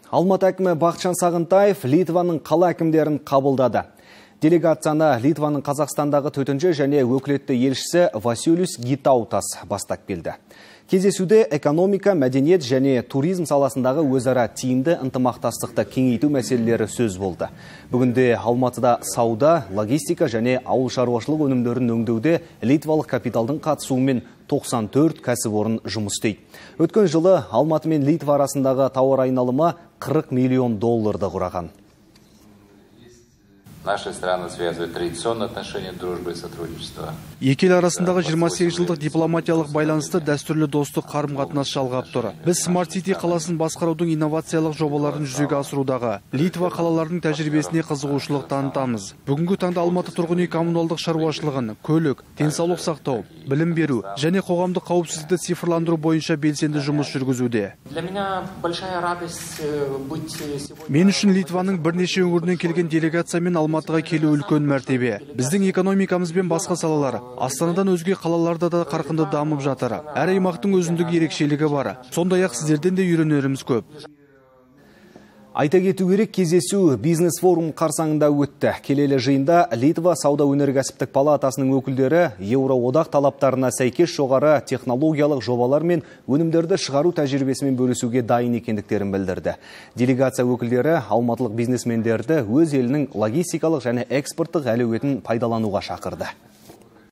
Алматы әкімі Бақытжан Сағынтаев Литваның қала әкімдерін қабылдады. Делегацияны Литваның Қазақстандағы төтенше және өкілетті елшісі Василиус Гитаутас бастап келді. Кездесуде экономика, мәдениет және туризм саласындағы өзара тиімді ынтымақтастықты кеңейту мәселелері сөз болды. Бүгінде Алматыда сауда, логистика және ауыл шаруашылық өнімдерін өңдеуде литвалық капиталдың қатысуымен 94 кәсіпорын жұмыс істейді. Өткен жылы Алматы мен Литва арасындағы тауар айналымы $40 миллион құраған. Наши страны связывают традиционные отношения дружбы и сотрудничества. Екі ел арасындағы 28 жылдық дипломатиялық байланысты дәстүрлі достық қарым-қатынас жалғап тұр. Біз Smart City қаласын басқарудың инновациялық жобаларын жүзеге асырудағы Литва қалаларының тәжірибесіне қызығушылық танытамыз. Бүгінгі таңда Алматы тұрғын үй коммуналдық шаруашылығын, көлік, денсаулық сақтау, білім беру және қоғамдық қауіпсіздікті цифрландыру бойынша белсенді жұмыс жүргізуде. Мен үшін Литваның бірнеше өңірінен келген делегациямен Алматыға келу үлкен мәртебе. Біздің экономикамыз бен басқа салалар Астанадан өзге қалаларда да қарқынды дамып жатыр. Әр аймақтың өзіндік ерекшелігі бар. Сондай-ақ сіздерден де үйренеріміз көп. Айта кету керек, кездесу бизнес форум қарсаңында өтті. Келелі жиында Литва сауда өнеркәсіптік палатасының өкілдері Еуроодақ талаптарына сәйкес жоғары технологиялық жобалар мен өнімдерді шығару тәжірибесімен бөлісуге дайын екендіктерін білдірді. Делегация өкілдері алматылық бизнесмендерді өз елінің логистикалық және экспорттық әлеуетін пайдалануға шақырды.